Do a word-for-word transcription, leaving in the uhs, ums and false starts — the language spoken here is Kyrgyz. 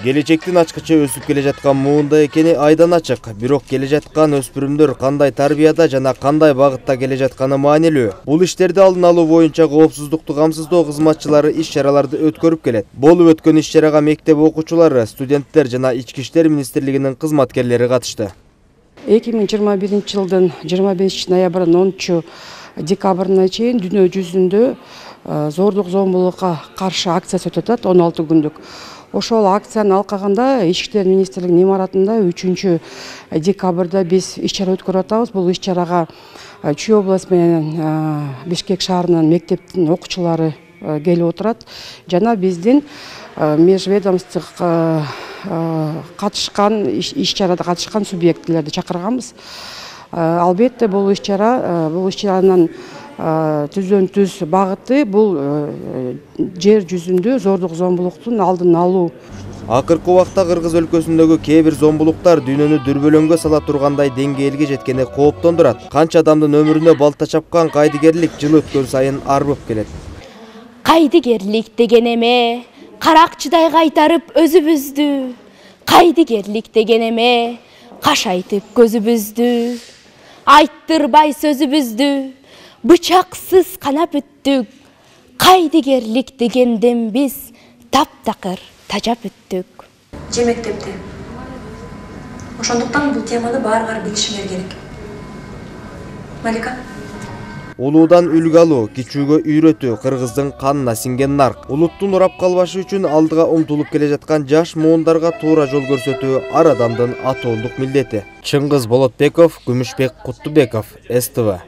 Келечектин ачкычы өсүп келе жаткан муунда экени айдан ачык. Бирок келе жаткан өспүрүмдөр кандай тарбияда жана кандай багытта келе жатканы маанилүү. Бул иштерди алдын алуу боюнча коопсуздукту камсыздоо кызматчылары иш-чараларды өткөрүп келет. Болуп өткөн иш-чарага мектеп окуучулары, студенттер жана Ички иштер министрлигинин кызматкерлери катышты. эки миң жыйырма биринчи жылдын жыйырма бешинчи ноябрынан онунчу декабрына чейин дүйнө жүзүндө зордук зомбулукка каршы акциясы өтүп атат, он алты күндүк. Ошол акцияны алкагында Ички иштер министрлигинин имаратында үчүнчү декабрда биз иш-чара өткөрүп атабыз. Бул иш-чарага Чүй областы менен Бишкек шаарынын мектептин окуучулары келип отурат. Жана биздин межведомстволук катышкан иш-чарада катышкан субъектилерди чакырганбыз. Албетте бул иш-чара бул иш-чаранын түздөн түз багыты бул жер жүзүндө зордук зомбулуктун алдын алуу. Акыркы убакта Кыргыз өлкөсүндөгү кээ бир зомбулуктар дүйнөнү дүрбөлөңгө сала тургандай деңгээлге жеткени кооптондурат. Канча адамдын өмүрүнө балта чапкан кайдыгерлик жыл өткөн сайын арбып келет. Кайдыгерлик деген эме каракчыдай кайтарып өзүбүздү. Кайдыгерлик деген эме кашайтып көзүбүздү. Айттырбай сөзүбүздү. Бычаксыз канап өттүк. Кайдыгерлик дегенден биз таптакыр тажап өттүк. Же мектепте. Ошондуктан бул теманы баарыңар билишиңер керек. Малика? Улуудан үлгү алуу, кичүүгө үйрөтүү кыргыздын канына сиңген нарк. Улуттун урап калбашы үчүн алдыга умтулуп келе жаткан жаш муундарга туура жол көрсөтүү ар адамдын атоолдук милдети. Чыңгыз Болотбеков, Күмүшбек Куттубеков, С Т В.